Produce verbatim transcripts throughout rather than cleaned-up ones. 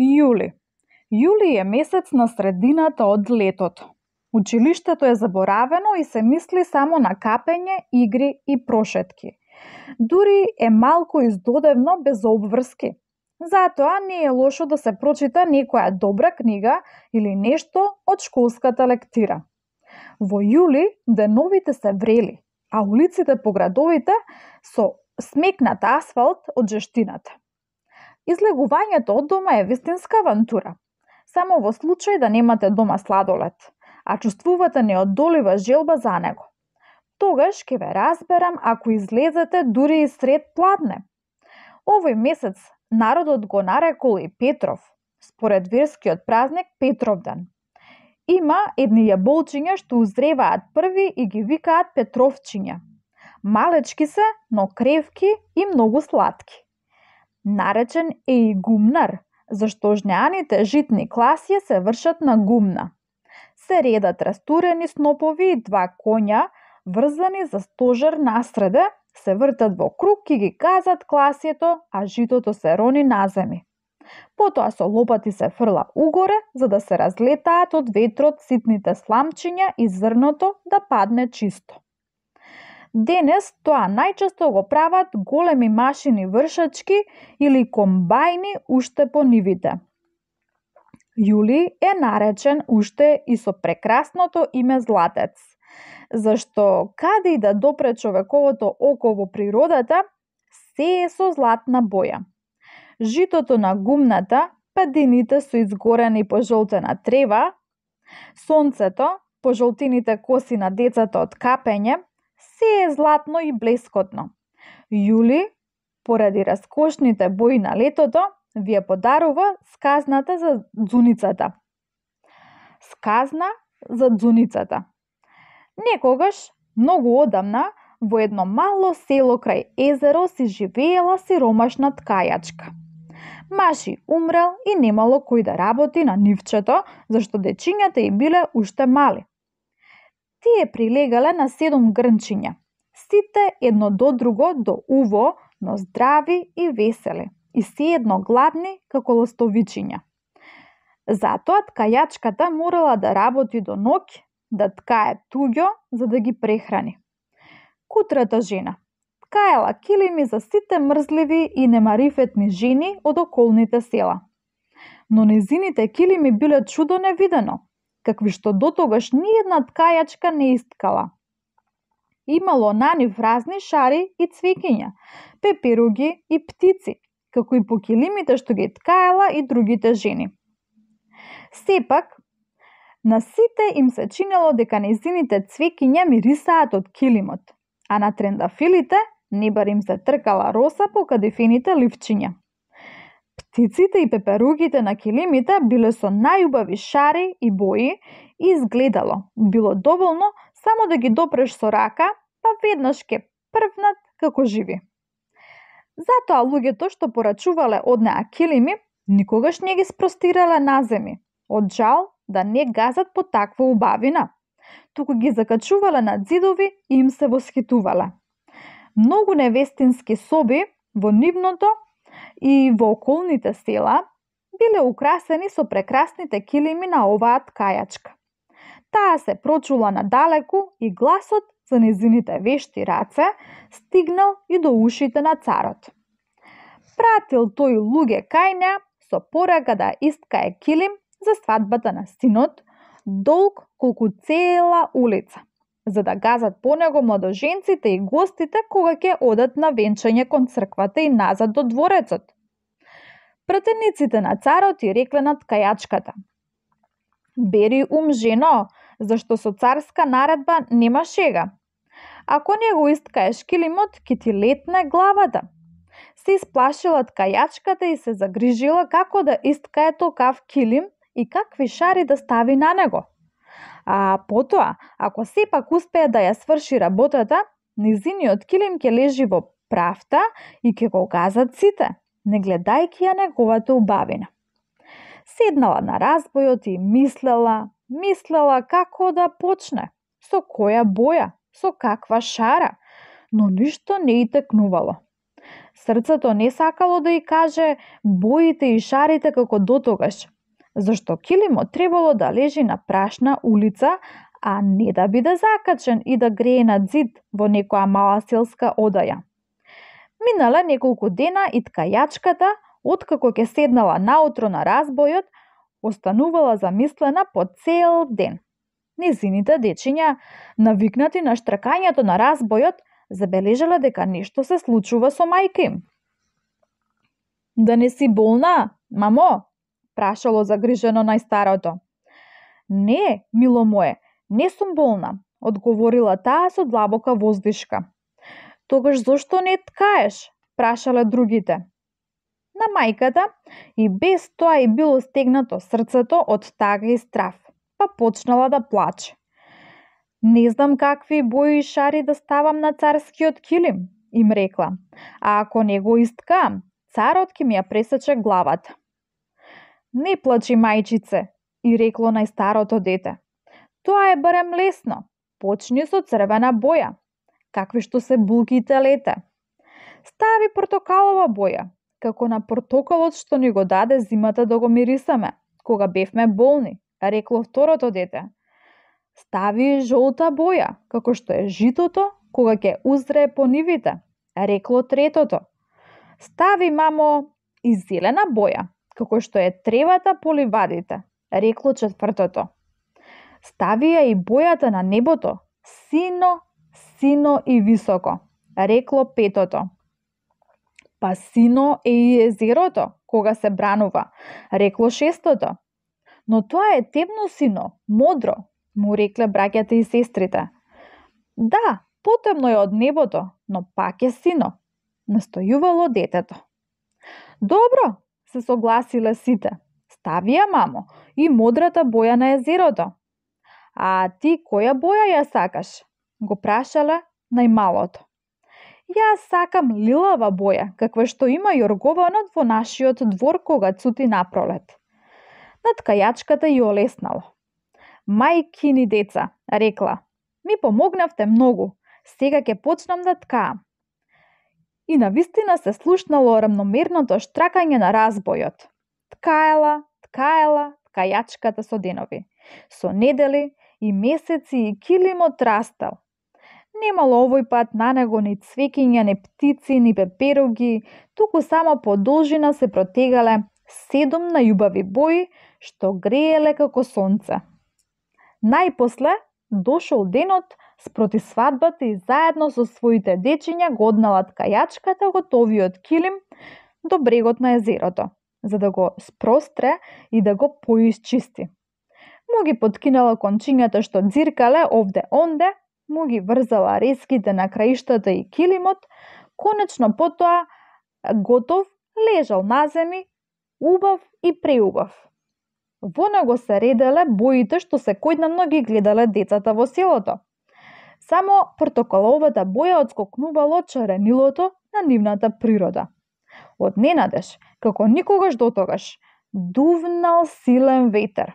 Јули. Јули е месец на средината од летото. Училиштето е заборавено и се мисли само на капење, игри и прошетки. Дури е малку издодевно без обврски. Затоа не е лошо да се прочита некоја добра книга или нешто од школската лектира. Во јули деновите се врели, а улиците по градовите со смекнат асфалт од жештината. Излегувањето од дома е вистинска авантура. Само во случај да немате дома сладолед, а чувствувате неодолива желба за него. Тогаш ќе ве разберам ако излезете дури и сред пладне. Овој месец народот го нарекол и Петров, според верскиот празник Петровден. Има едни јаболчиња што узреваат први и ги викаат Петровчиња. Малечки се, но кревки и многу сладки. Наречен е и гумнар, зашто жнеаните житни класија се вршат на гумна. Се редат растурени снопови и два коња, врзани за стожер насреде, се вртат во круг и ги газат класието, а житото се рони на земи. Потоа со лопати се фрла угоре, за да се разлетаат од ветрот ситните сламчиња и зрното да падне чисто. Денес тоа најчесто го прават големи машини вршачки или комбајни уште по нивите. Јули е наречен уште и со прекрасното име Златец, зашто каде и да допре човековото око во природата, се е со златна боја. Житото на гумната, падините со изгорена и пожолтена трева, сонцето, пожолтените коси на децата од капење, се е златно и блескотно. Јули, поради раскошните бои на летото, ви ја подарува сказната за ѕуницата. Сказна за дзуницата. Некогаш, многу одамна, во едно мало село крај езеро си живеела сиромашна ткајачка. Маши умрел и немало кој да работи на нивчето, зашто дечињата и биле уште мали. Тие прилегале на седум грнчиња, сите едно до друго до уво, но здрави и весели, и се едно гладни како ластовичиња. Затоа ткајачката морала да работи до ноќ, да ткае туѓо за да ги прехрани. Кутрата жена ткаела килими за сите мрзливи и немарифетни жени од околните села. Но незините килими биле чудо невидено, какви што дотогаш ниедна ткајачка не искала. Имало на нив разни шари и цвекиња, пеперуги и птици, како и по килимите што ги ткаела и другите жени. Сепак, на сите им се чинело дека незините цвекиња мирисаат од килимот, а на трендафилите не бар им се тркала роса по кадифените ливчиња. Птиците и пеперугите на килимите биле со најубави шари и бои и изгледало, било доволно само да ги допреш со рака, па веднаш ке првнат како живи. Затоа луѓето што порачувале од неа килими, никогаш не ги спростирале на земи, од жал да не газат по таква убавина, туку ги закачувале на ѕидови и им се восхитувале. Многу невестински соби во нивното и во околните села биле украсени со прекрасните килими на оваа ткајачка. Таа се прочула надалеку и гласот за незините вешти раце стигнал и до ушите на царот. Пратил тој луѓе кај неа со порака да искае килим за свадбата на синот, долг колку цела улица, за да газат по него младоженците и гостите кога ќе одат на венчање кон црквата и назад до дворецот. Пратениците на царот и рекле на ткајачката: "Бери ум, жено, зашто со царска наредба нема шега. Ако не го искаеш килимот, ќе ти летне главата." Се исплашила ткајачката и се загрижила како да искае токав килим и какви шари да стави на него. А потоа, ако сепак успее да ја сврши работата, незиниот килим ќе лежи во правта и ќе го газат сите, не гледајќи ја неговата убавина. Седнала на разбојот и мислела, мислела како да почне, со која боја, со каква шара, но ништо не и текнувало. Срцето не сакало да ѝ каже боите и шарите како дотогаш, зашто килимот требало да лежи на прашна улица, а не да биде закачен и да грее на зид во некоја мала селска одаја. Минале неколку дена и ткајачката, откако ќе седнала наутро на разбојот, останувала замислена по цел ден. Незините дечиња, навикнати на штракањето на разбојот, забележале дека нешто се случува со мајка им. Да не си болна, мамо? Прашало загрижено најстарото. Не, мило мое, не сум болна, одговорила таа со длабока воздишка. Тогаш зошто не ткаеш? Прашале другите. На мајката и без тоа и било стегнато срцето од тага и страв, па почнала да плаче. Не знам какви бои и шари да ставам на царскиот килим, им рекла, а ако не го исткаам, царот ќе ми ја пресече главата. Не плачи, мајчице, и рекло најстарото дете. Тоа е барем лесно, почни со црвена боја, какви што се булките лете. Стави портокалова боја, како на портокалот што ни го даде зимата да го мирисаме, кога бевме болни, рекло второто дете. Стави жолта боја, како што е житото, кога ќе узрее по нивите, рекло третото. Стави, мамо, и зелена боја, како што е тревата по ливадите, рекло четвртото. Стави ја и бојата на небото, сино, сино и високо, рекло петото. Па сино е и езерото, кога се бранува, рекло шестото. Но тоа е темно сино, модро, му рекле браќата и сестрите. Да, потемно е од небото, но пак е сино, настојувало детето. Добро, се согласиле сите. Стави ја, мамо, и модрата боја на езерото. А ти која боја ја сакаш? Го прашале најмалото. Јас сакам лилава боја, каква што има јоргованот во нашиот двор кога цути напролет. На ткајачката ја олеснало. Мајкини деца, рекла, ми помогнавте многу, сега ќе почнам да ткаам. И навистина се слушнало рамномерното штракање на разбојот. Ткаела, ткаела, ткајачката со денови, со недели и месеци и килимот растел. Немало овој пат на него ни цвекиња, ни птици, ни пеперуги, туку само по должина се протегале седум најубави бои што грееле како сонце. Најпосле дошол денот спроти свадбата и заедно со своите дечиња го однала ткајачката готовиот килим до брегот на езерото, за да го спростре и да го поисчисти. Му ги поткинала кончињата што дзиркале овде-онде, му ги врзала реските на краиштата и килимот, конечно потоа готов лежал на земи, убав и преубав. Во него се ределе боите што секојдневно ги гледале децата во селото. Само портокаловата боја одскокнувало чаренилото на нивната природа. Од ненадеж, како никогаш дотогаш, дувнал силен ветер.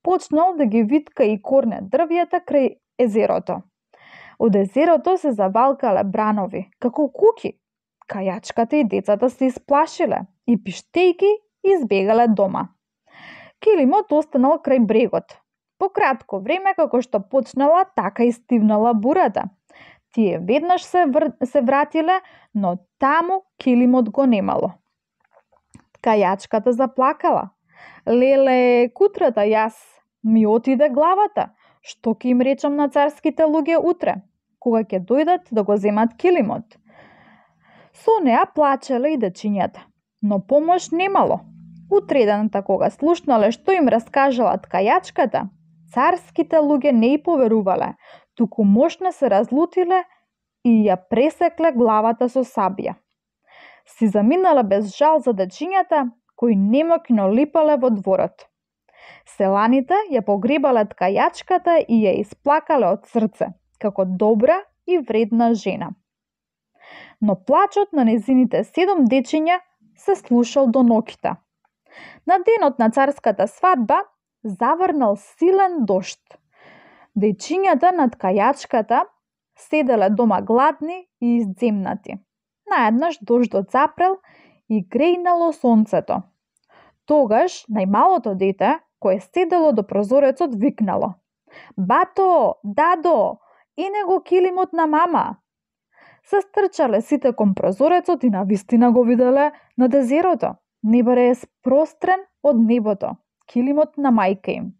Почнал да ги витка и корне дрвјата крај езерото. Од езерото се завалкале бранови, како куки. Кајачката и децата се исплашиле и пиштејки избегале дома. Килимот останал крај брегот. По кратко време, како што почнала, така и стивнала бурата. Тие веднаш се, вр... се вратиле, но таму килимот го немало. Кајачката заплакала. Леле, кутрата јас, ми отиде главата. Што ќе им речам на царските луѓе утре, кога ќе дојдат да го земат килимот? Со неа плачеле и дечињата, но помош немало. Утредената кога слушнале што им раскажала ткајачката, царските луѓе не и поверувале, туку мощно се разлутиле и ја пресекле главата со сабја. Си заминале без жал за дечињата, кои немокно липале во дворот. Селаните ја погребале ткајачката и ја исплакале од срце, како добра и вредна жена. Но плачот на незините седум дечиња се слушал до ноќта. На денот на царската свадба заврнал силен дожд. Дечињата на ткајачката седеле дома гладни и изземнати. Наеднаш дождот запрел и грејнало сонцето. Тогаш најмалото дете, кое седело до прозорецот, викнало: "Бато, дадо, ене го килимот на мама." Се стрчале сите кон прозорецот и навистина го виделе на дезерото. Небаре е спрострен од небото, килимот на мајка им.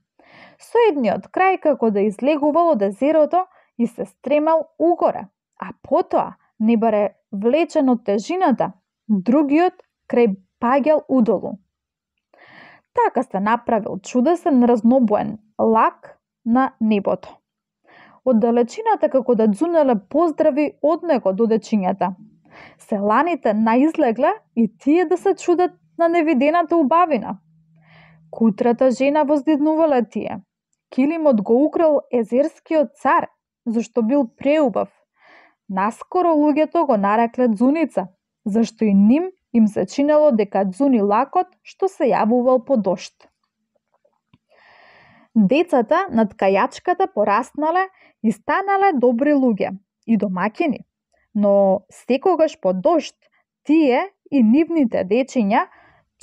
Со едниот крај како да излегувал од езерото и се стремал угоре, а потоа небаре влечен од тежината, другиот крај паѓал удолу. Така се направил чудесен разнобоен лак на небото. Од далечината како да дзунеле поздрави од него до дечињата. Селаните наизлегле и тие да се чудат на невидената убавина. Кутрата жена воздиднувале тие. Килимот го украл езерскиот цар, зашто бил преубав. Наскоро луѓето го нарекле дзуница, зашто и ним им се чинело дека дзуни лакот што се јавувал по дожд. Децата над кајачката пораснале и станале добри луѓе и домаќини, но секогаш по дожд тие и нивните дечиња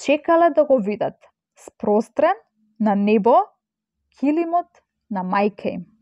чекале да го видат спрострен на небо килимот на мајка им.